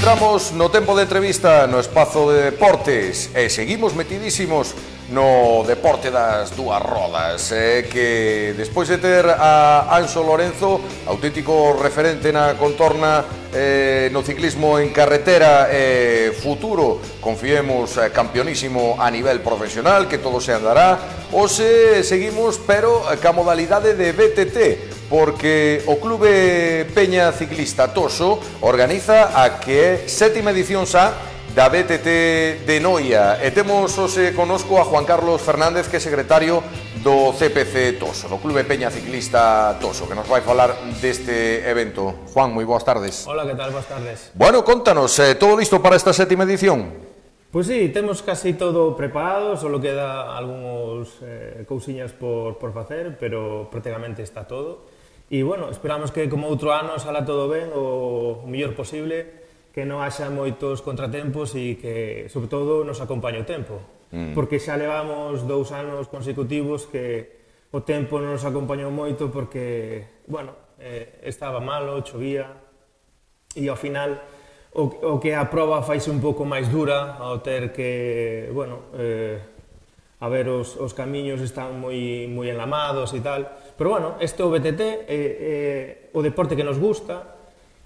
Comezamos no tempo de entrevista no espazo de deportes e seguimos metidísimos no deporte das dúas rodas, que despois de ter a Anxo Lorenzo, auténtico referente na contorna no ciclismo en carretera, futuro, confiemos, campeonísimo a nivel profesional, que todo se andará. Hoxe seguimos, pero ca modalidade de BTT, porque o Clube Peña Ciclista Toso organiza a que é sétima edición xa da BTT de Noia, e temos hoxe conosco a Juan Carlos Fernández, que é secretario do CPC Toso, do Clube Peña Ciclista Toso, que nos vai falar deste evento. Juan, moi boas tardes. Hola, que tal? Boas tardes. Bueno, contanos, todo listo para esta sétima edición? Pois sí, temos casi todo preparado, solo queda algúns cousiñas por facer, pero prácticamente está todo. E, bueno, esperamos que como outro ano sala todo ben, o mellor posible, que non haxa moitos contratempos e que, sobre todo, nos acompañe o tempo. Porque xa levamos 2 anos consecutivos que o tempo non nos acompañou moito porque, bueno, estaba malo, chovía, e ao final o que a proba faise un pouco máis dura ao ter que, bueno, a ver, os camiños están moi enlamados e tal. Pero, bueno, este é o BTT, o deporte que nos gusta,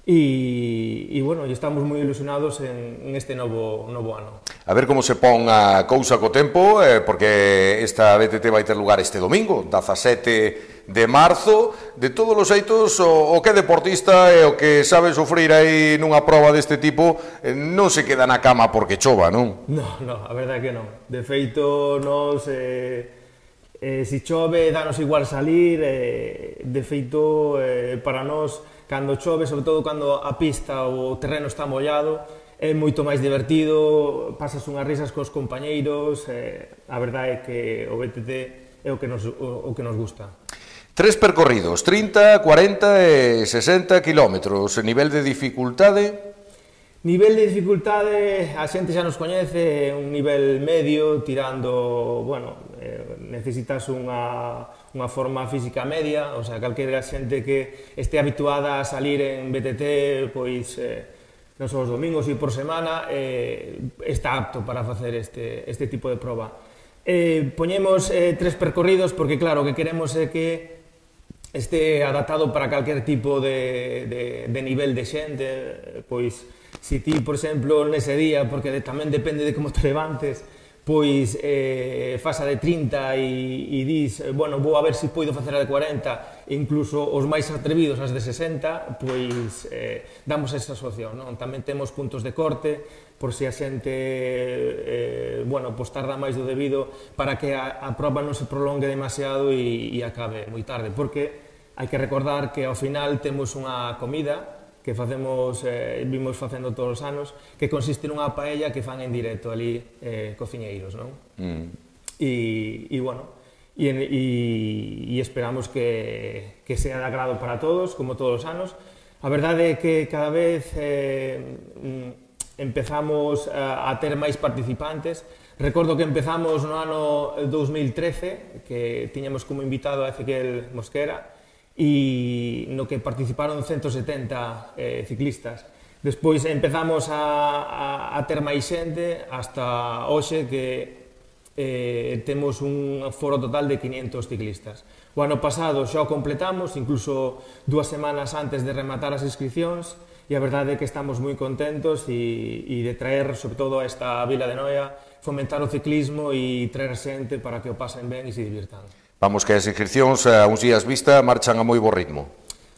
e bueno, estamos moi ilusionados en este novo ano. A ver como se pon a cousa co tempo, porque esta BTT vai ter lugar este domingo, 17 de marzo. De todos os xeitos, o que é deportista e o que sabe sufrir aí nunha proba deste tipo non se queda na cama porque chova, non? Non, a verdade é que non. De feito, nos, se chove, danos igual salir. De feito, para nós, cando chove, sobre todo cando a pista ou o terreno está mollado, é moito máis divertido, pasas unhas risas cos compañeiros, a verdade é que o BTT é o que nos gusta. 3 percorridos, 30, 40 e 60 kilómetros, nivel de dificultade? Nivel de dificultade, a xente xa nos coñece, un nivel medio, tirando, bueno, necesitas unha forma física media, o sea, calquera xente que este habituada a salir en BTT, pois, non só os domingos e por semana, está apto para facer este tipo de proba. Poñemos 3 percorridos porque, claro, o que queremos é que este adaptado para calquer tipo de nivel de xente, pois, se ti, por exemplo, nese día, porque tamén depende de como te levantes, pois fasa de 30 e dis, bueno, vou a ver se poido facer a de 40, e incluso os máis atrevidos as de 60, pois damos esa opción, non? Tamén temos puntos de corte, por se a xente, bueno, pois tarda máis do debido, para que a proba non se prolongue demasiado e acabe moi tarde, porque hai que recordar que ao final temos unha comida que facemos, vimos facendo todos os anos, que consiste nunha paella que fan en directo ali cociñeiros, non? E, bueno, e esperamos que sea de agrado para todos, como todos os anos. A verdade é que cada vez empezamos a ter máis participantes. Recordo que empezamos no ano 2013, que tiñamos como invitado a Ezequiel Mosquera, e no que participaron 170 ciclistas. Despois empezamos a ter máis xente hasta hoxe que temos un foro total de 500 ciclistas. O ano pasado xa o completamos, incluso 2 semanas antes de rematar as inscripcións, e a verdade é que estamos moi contentos e de traer, sobre todo a esta vila de Noia, fomentar o ciclismo e traer xente para que o pasen ben e se divirtan. Vamos, que as inscripcións a uns días vista marchan a moi bo ritmo.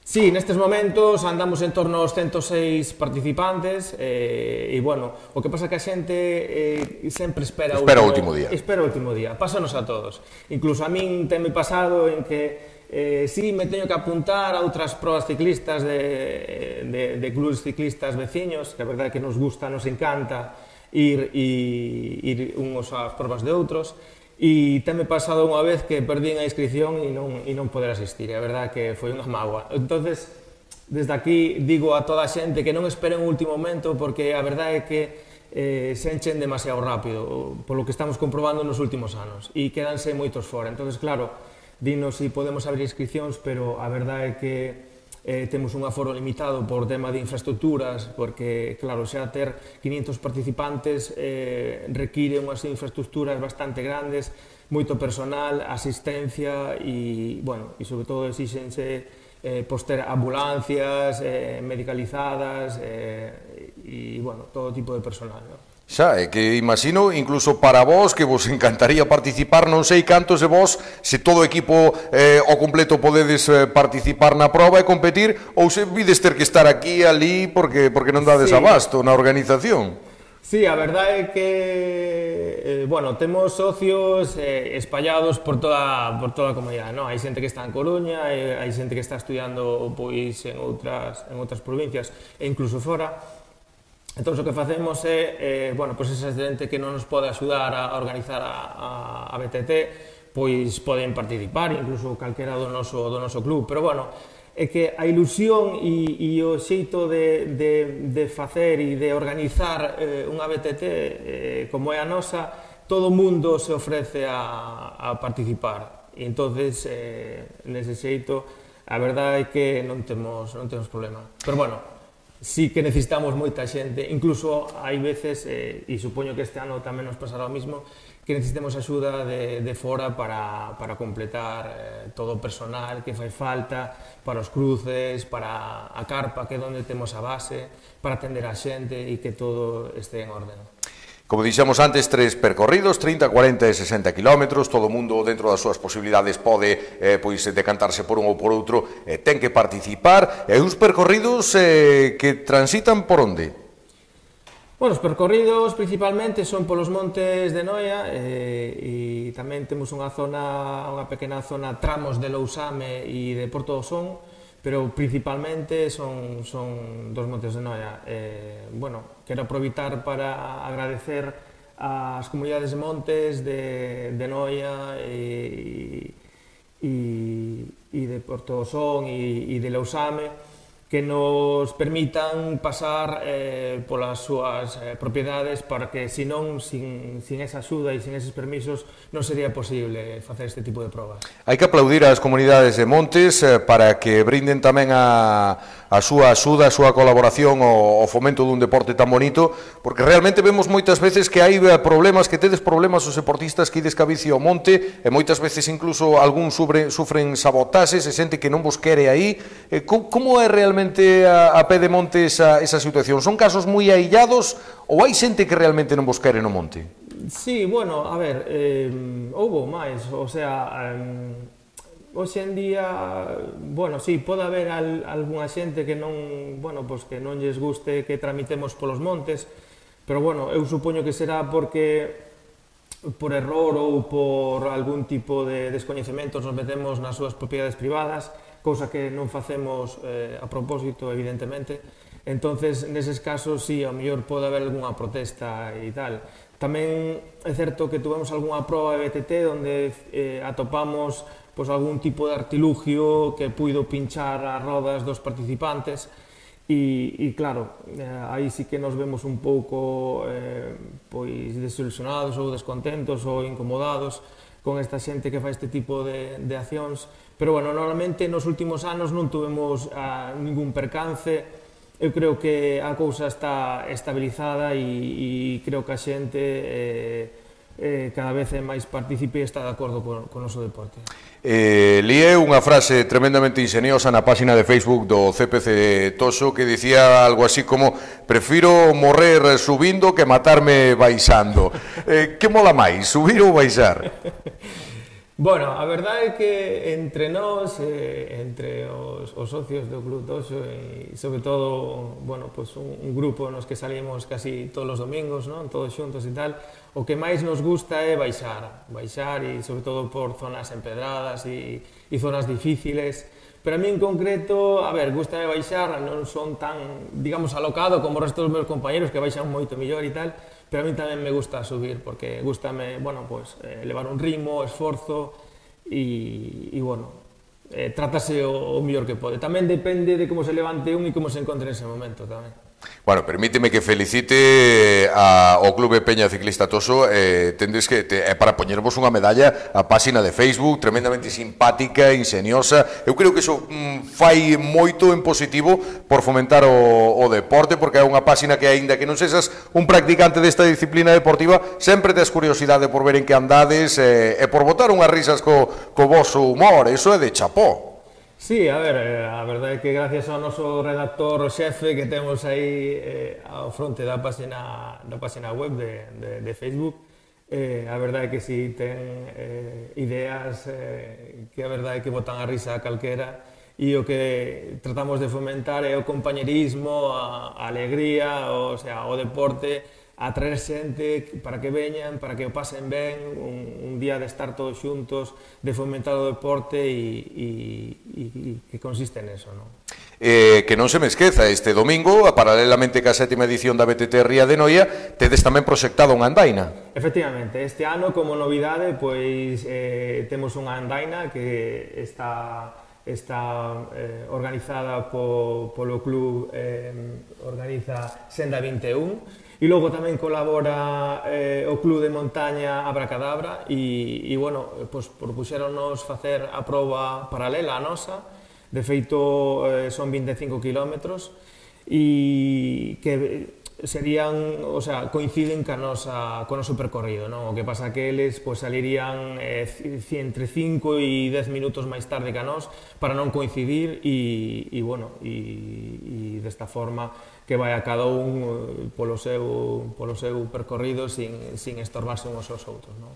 Sí, nestes momentos andamos en torno aos 106 participantes e, bueno, o que pasa que a xente sempre espera o último día. Espera o último día, pásanos a todos. Incluso a min tenme pasado en que si me teño que apuntar a outras probas ciclistas de clubes ciclistas veciños, que a verdade é que nos gusta, nos encanta ir uns ás probas de outros, e tenme pasado unha vez que perdín a inscripción e non poder asistir, e a verdade que foi unha mágoa. Entonces, desde aquí digo a toda a xente que non esperen o último momento, porque a verdade é que se enchen demasiado rápido, polo que estamos comprobando nos últimos anos, e quedanse moitos fora. Entonces, claro, dinos se podemos abrir inscripcións, pero a verdade é que temos un aforo limitado por tema de infraestructuras, porque, claro, xa ter 500 participantes require unhas infraestructuras bastante grandes, moito personal, asistencia e, bueno, e sobre todo exixense ter ambulancias medicalizadas e, bueno, todo tipo de personal, non? Xa, é que imagino, incluso para vos, que vos encantaría participar, non sei cantos de vos, se todo o equipo ao completo podedes participar na proba e competir, ou se vides ter que estar aquí, ali, porque non dades abasto na organización. Sí, a verdade é que, bueno, temos socios espallados por toda a comunidade, non? Hai xente que está en Coruña, hai xente que está estudiando pois en outras provincias e incluso fora. Entón, o que facemos é, bueno, pois esa xente que non nos pode axudar a organizar a BTT, pois poden participar, incluso calquera do noso club, pero, bueno, é que a ilusión e o xeito de facer e de organizar unha BTT como é a nosa, todo o mundo se ofrece a participar. E entonces, nese xeito, a verdade é que non temos problema. Pero, bueno, sí que necesitamos moita xente, incluso hai veces, e supoño que este ano tamén nos pasará o mismo, que necesitemos axuda de fora para completar todo o personal que fai falta, para os cruces, para a carpa, que é onde temos a base, para atender a xente e que todo este en orden. Como dixemos antes, 3 percorridos, 30, 40 e 60 kilómetros, todo o mundo dentro das súas posibilidades pode pois decantarse por un ou por outro, ten que participar, e uns percorridos que transitan por onde? Bueno, os percorridos principalmente son polos montes de Noia e tamén temos unha pequena zona, tramos de Lousame e de Porto do Son, pero principalmente son dos montes de Noia. Bueno, quero aproveitar para agradecer ás comunidades de montes de Noia e de Porto do Son e de Lousame, que nos permitan pasar polas súas propiedades, para que, senón, sin esa axuda e sin eses permisos, non sería posible facer este tipo de probas. Hai que aplaudir ás comunidades de montes para que brinden tamén a súa axuda, a súa colaboración ao fomento dun deporte tan bonito, porque realmente vemos moitas veces que hai problemas, que tedes problemas os deportistas que ides ca bici ao monte, e moitas veces incluso algún sufren sabotaxes e xente que non vos quere aí. Como é realmente a pé de monte esa situación? Son casos moi aillados ou hai xente que realmente non vos quere no monte? Sí, bueno, a ver, houbo máis, o sea, hoxe en día, bueno, sí, pode haber algunha xente que non, bueno, pois que non lles guste que tramitemos polos montes, pero, bueno, eu supoño que será porque por error ou por algún tipo de descoñecemento nos metemos nas súas propiedades privadas, cousa que non facemos a propósito, evidentemente. Entonces, neses casos, sí, ao mellor pode haber algunha protesta e tal. Tamén é certo que tuvemos algunha proba de BTT onde atopamos algún tipo de artilugio que puido pinchar as rodas dos participantes e claro, aí sí que nos vemos un pouco desilusionados ou descontentos ou incomodados con esta xente que fai este tipo de accións. Pero, bueno, normalmente nos últimos anos non tuvemos ningún percance. Eu creo que a cousa está estabilizada e creo que a xente cada vez é máis partícipe e está de acordo con o noso deporte. Lié unha frase tremendamente ingeniosa na página de Facebook do CPC Toxo que dicía algo así como: prefiro morrer subindo que matarme baixando. Que mola máis, subir ou baixar? Bueno, a verdade é que entre nós, entre os socios do Club Toxo e, sobre todo, bueno, pues un grupo nos que salimos casi todos os domingos, non? Todos xuntos e tal, o que máis nos gusta é baixar e, sobre todo, por zonas empedradas e zonas difíciles. Pero a mí en concreto, a ver, gustame baixar, non son tan, digamos, alocado como o resto dos meus compañeros que baixan moito mellor e tal, pero a mí tamén me gusta subir, porque gustame, bueno, pues, levar un ritmo, esforzo e bueno, trátase o mellor que pode. Tamén depende de como se levante un e como se encontre nese momento tamén. Bueno, permíteme que felicite ao Clube Peña Ciclista Toso. Tendes que, para poñervos unha medalla a páxina de Facebook, tremendamente simpática, ingeniosa. Eu creo que iso fai moito en positivo por fomentar o deporte, porque é unha páxina que, aínda que non sexas un practicante desta disciplina deportiva, sempre tes curiosidade por ver en que andades e por botar unhas risas co voso humor. Iso é de chapó. Sí, a ver, a verdade é que gracias ao noso redactor xefe que temos aí ao fronte da página web de Facebook, a verdade é que si ten ideas que a verdade é que botan a risa a calquera, e o que tratamos de fomentar é o compañerismo, a alegría, o sea, o deporte, a traer xente para que veñan, para que o pasen ben, un día de estar todos xuntos, de fomentar o deporte e que consiste neso, non? Que non se me esqueza, este domingo, paralelamente ca 7ª edición da BTT Ría de Noia, tedes tamén proxectado unha andaina. Efectivamente, este ano, como novidade, pois temos unha andaina que está organizada polo club, organiza Senda 21, e logo tamén colabora o club de montaña Abracadabra e bueno, pois propuxéronnos facer a proba paralela a nosa. De feito, son 25 kilómetros e que serían, o sea, coinciden co noso percorrido, non? O que pasa que eles pois salirían entre 5 e 10 minutos máis tarde que a nós para non coincidir e bueno, e desta forma que vai a cada un polo seu percorrido sin estorbarse uns aos outros, non?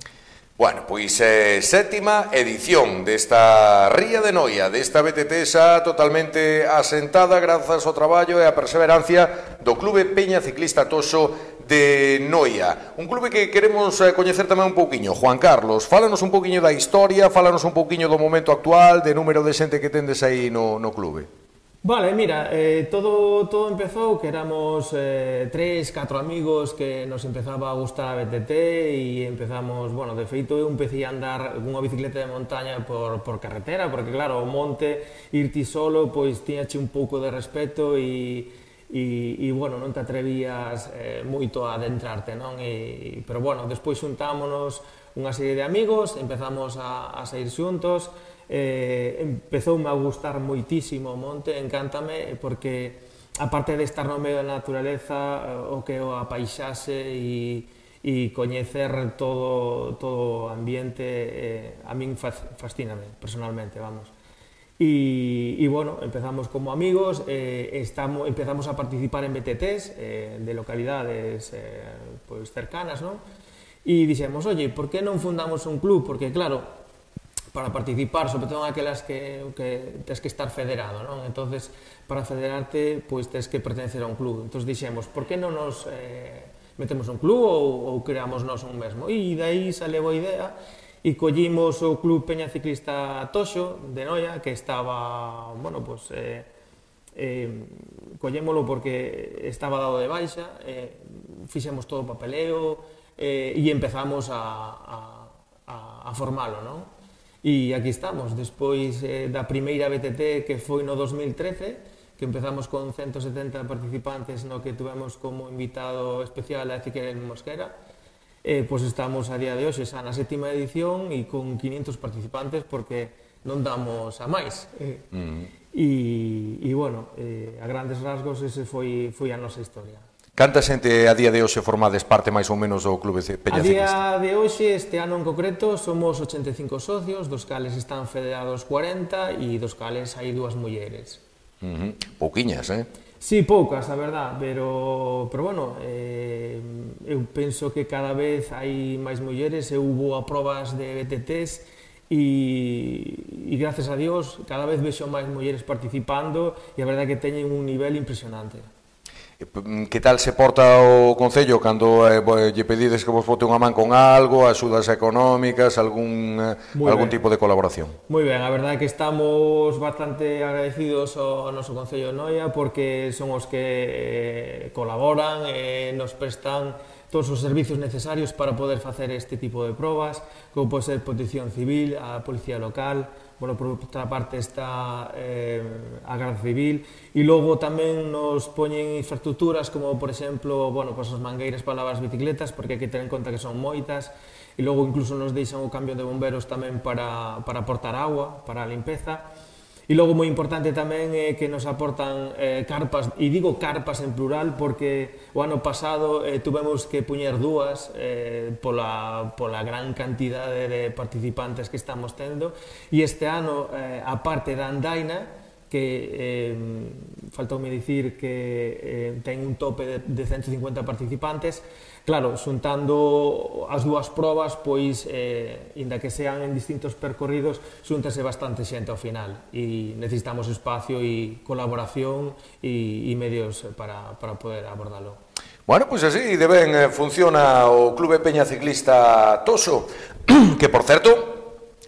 Bueno, pois 7ª edición desta Ría de Noia, desta BTT xa totalmente asentada grazas ao traballo e a perseverancia do Clube Peña Ciclista Toso de Noia. Un clube que queremos coñecer tamén un pouquiño. Juan Carlos, fálanos un pouquiño da historia, fálanos un pouquiño do momento actual, de número de xente que tendes aí no clube. Vale, mira, todo empezou que éramos 3, 4 amigos que nos empezaba a gustar a BTT e empezamos, bueno, de feito eu empecé a andar cunha bicicleta de montaña por carretera, porque claro, o monte, irti solo, pois tiñache un pouco de respeto e bueno, non te atrevías moito a adentrarte, non? Pero bueno, despois xuntámonos unha serie de amigos, empezamos a sair xuntos. Empezoume a gustar moitísimo o monte, encántame, porque aparte de estar no medio da naturaleza, o que é a paisaxe e coñecer todo o ambiente, a min fascíname, personalmente, vamos. E bueno, empezamos como amigos, empezamos a participar en BTTs de localidades pois cercanas, non? E dixemos, oye, por que non fundamos un club? Porque claro, para participar, sobre todo en aquelas que tens que estar federado, non? Entonces, para federarte, pois tens que pertenecer a un club. Entón dixemos, por que non nos metemos un club ou creamos nós un mesmo? E dai saleu a idea e collimos o Club Peña Ciclista Toxo de Noia, que estaba, bueno, pois collémolo porque estaba dado de baixa, fixemos todo o papeleo e empezamos a formalo, non? E aquí estamos, despois da primeira BTT que foi no 2013, que empezamos con 170 participantes, no que tuvemos como invitado especial a Ezequiel Mosquera, pois estamos a día de hoxe xa na 7ª edición e con 500 participantes porque non damos a máis. E bueno, a grandes rasgos ese foi a nosa historia. Canta xente a día de hoxe formades parte máis ou menos do Clube Peña Ciclista? A día de hoxe, este ano en concreto, somos 85 socios, dos cales están federados 40 e dos cales hai 2 mulleres. Pouquiñas, Sí, poucas, a verdad, pero bueno, eu penso que cada vez hai máis mulleres, eu vou a probas de BTTs e gracias a Dios cada vez vexo máis mulleres participando e a verdade que teñen un nivel impresionante. Que tal se porta o Concello cando lle pedides que vos bote unha man con algo, axudas económicas, algún tipo de colaboración? Moi ben, a verdade é que estamos bastante agradecidos ao noso Concello de Noia porque son os que colaboran, nos prestan todos os servizos necesarios para poder facer este tipo de probas, como pode ser protección civil, a policía local, bueno, por outra parte está a Garda Civil, e logo tamén nos poñen infraestructuras como, por exemplo, bueno, pues as mangueiras para lavar as bicicletas, porque hai que ter en conta que son moitas, e logo incluso nos deixan o cambio de bomberos tamén para aportar agua, para a limpeza. E logo moi importante tamén é que nos aportan carpas, e digo carpas en plural porque o ano pasado tuvemos que puñer dúas pola gran cantidade de participantes que estamos tendo, e este ano, a parte da andaina, que faltoume dicir que ten un tope de 150 participantes, claro, xuntando as dúas probas, pois, inda que sean en distintos percorridos, xuntase bastante xente ao final, e necesitamos espacio e colaboración e medios para poder abordalo. Bueno, pois así de ben funciona o Clube Peña Ciclista Toso, que, por certo,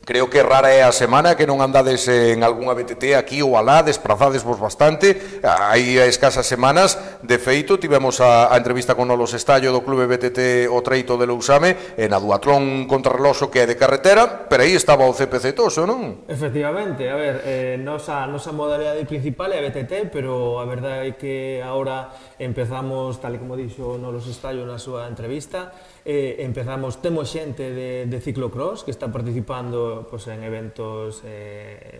creo que rara é a semana que non andades en algunha BTT aquí ou alá, desprazadesvos bastante. Hai escasas semanas, de feito, tivemos a entrevista con Nolos Estallo do Clube BTT o Treito de Lousame, na duatlón contrarreloxo que é de carretera, pero aí estaba o CPC Toso, non? Efectivamente, a ver, nosa modalidade principal é a BTT, pero a verdade é que agora empezamos, tal e como dixo Nolos Estallo na súa entrevista, temos xente de ciclocross que está participando en eventos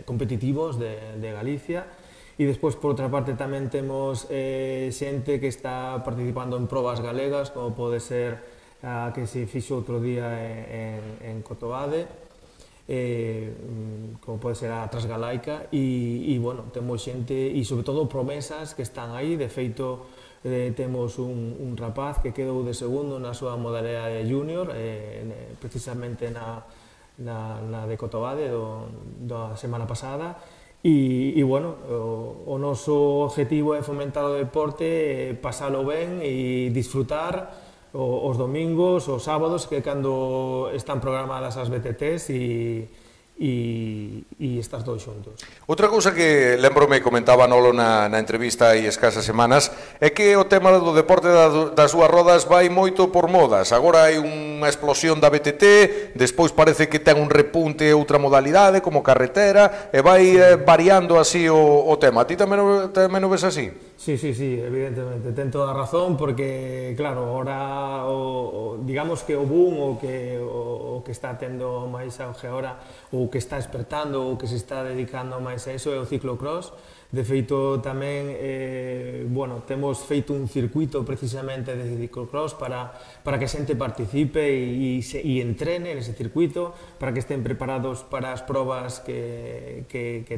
competitivos de Galicia, e despois, por outra parte, tamén temos xente que está participando en probas galegas, como pode ser a que se fixo outro día en Cotobade, como pode ser a Transgalaica, e bueno, temos xente, e sobre todo promesas que están aí. De feito, temos un rapaz que quedou de segundo na súa modalidade junior, precisamente na de Cotobade da semana pasada, e bueno, o noso objetivo é fomentar o deporte, pasalo ben e disfrutar os domingos, os sábados, que é cando están programadas as BTTs, e estás todos xuntos. Outra cousa que lembrome comentaba Nolo na entrevista hai escasas semanas é que o tema do deporte das dúas rodas vai moito por modas. Agora hai unha explosión da BTT, despois parece que ten un repunte outra modalidade como carretera, e vai variando así o tema. A ti tamén o ves así? Sí, evidentemente, ten toda a razón, porque, claro, ahora, digamos que o boom, o que está tendo máis auge agora, o que está despertando, o que se está dedicando máis a eso, é o ciclocross. De feito, tamén, bueno, temos feito un circuito precisamente de ciclocross para que a xente participe e entrene nese circuito, para que estén preparados para as probas que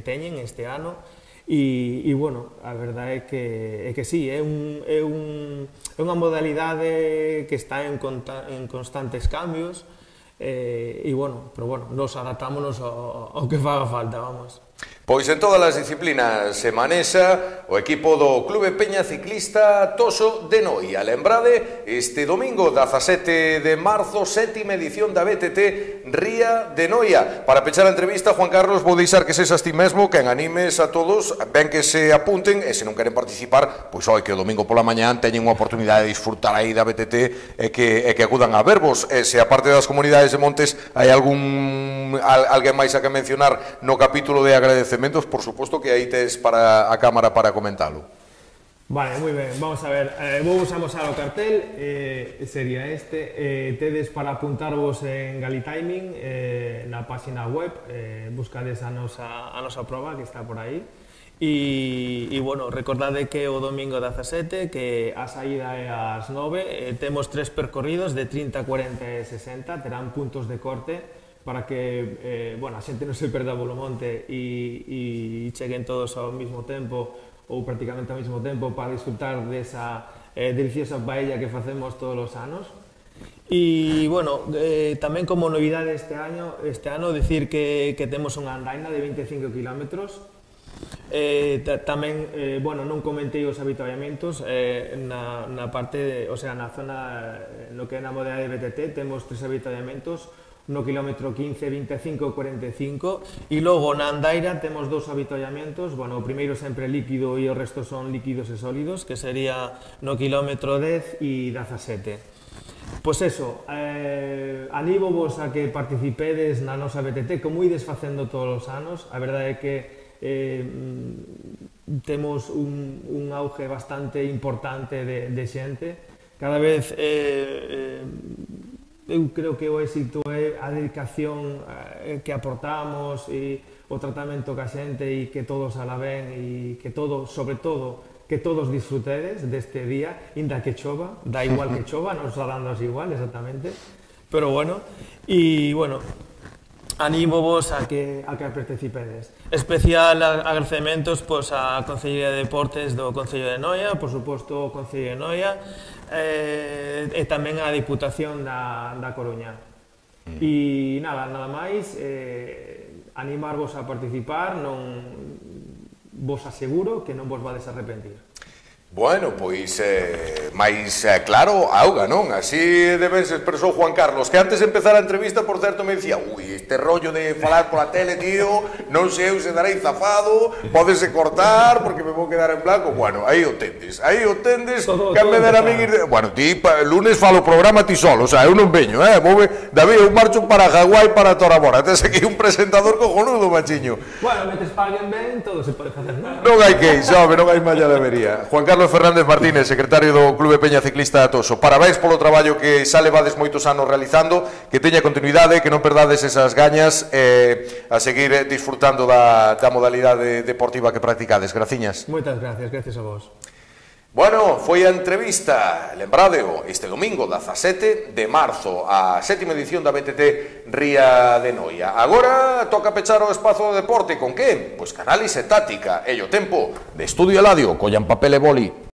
teñen este ano. E bueno, a verdade é que sí, é unha modalidade que está en constantes cambios, e bueno, pero bueno, nos adaptámonos ao que faga falta, vamos. Pois en todas as disciplinas se manexa o equipo do Clube Peña Ciclista Toso de Noia. Lembrade, este domingo 17 de marzo, 7ª edición da BTT Ría de Noia. Para pechar a entrevista, Juan Carlos, vou deixar que sesas ti mesmo quen animes a todos, ben que se apunten, e se non queren participar, pois oi que o domingo pola mañán teñen unha oportunidade de disfrutar aí da BTT e que acudan a verbos. E se aparte das comunidades de montes hai alguén máis a que mencionar no capítulo de agradecementos, por suposto que aí tes para a cámara para comentalo. Vale, moi ben, vamos a ver, vou amosar o cartel, sería este, tedes para apuntarvos en Galitiming na página web, buscades a nosa proba que está por aí, e bueno, recordade que o domingo 17, que a saída é ás 9, temos 3 percorridos de 30, 40 e 60, terán puntos de corte, para que bueno, a xente non se perda polo monte e cheguen todos ao mesmo tempo, ou prácticamente ao mesmo tempo, para disfrutar desa deliciosa paella que facemos todos os anos. E, bueno, tamén como novidade este ano, decir que temos unha andaina de 25 km. Tamén, bueno, non comentei os habituallamentos, na parte, o sea, na zona, no que é na modalidade de BTT, temos 3 habituallamentos, no kilómetro 15, 25 e 45, e logo na andaira temos 2 habituallamentos, bueno, o primeiro sempre líquido e o resto son líquidos e sólidos, que sería no kilómetro 10 e 17. Pois eso, anímovos a que participedes na nosa BTT, como ides facendo todos os anos. A verdade é que temos un auge bastante importante de xente. Cada vez eu creo que o éxito é a dedicación que aportamos e o tratamento que a xente e que todos ala ben e que todos, sobre todo, que todos disfrutedes deste día, inda que chova, da igual que chova, nos está dando igual, exactamente, pero bueno, e bueno, anímovos a que participedes. Especial agradecementos pois á Consellería de Deportes do Concello de Noia, por suposto o Concello de Noia, e tamén a Diputación da Coruña. E nada máis, animarvos a participar, non vos aseguro que non vos vades a arrepentir. Bueno, pois, máis claro, auga, non? Así debe se expresou Juan Carlos, que antes de empezar a entrevista, por certo, me dicía este rollo de falar pola tele, tío, non sei se darei zafado, pódese cortar, porque me vou quedar en blanco. Bueno, aí o tendes, que me dera a min ir... Bueno, ti, lunes falo o programa ti solo, o sea, eu non veño, David, eu marcho para Hawái, para Tora Bora, tes aquí un presentador cojonudo, machiño. Bueno, metes paguen ben, todo se pode facer, non? Non hai que, sabe, non hai malla de avería. Juan Carlos Fernández Martínez, secretario do Clube Peña Ciclista Atoso. Parabéns polo traballo que xa levades moitos anos realizando, que teña continuidade, que non perdades esas gañas a seguir disfrutando da modalidade deportiva que practicades. Graciñas. Moitas gracias a vos. Bueno, foi a entrevista, lembradeo, este domingo 17 de marzo, a 7ª edición da BTT Ría de Noia. Agora toca pechar o espazo do deporte, con que? Pois Canal e Táctica, e o tempo de Estudio Eladio, collan papel e boli.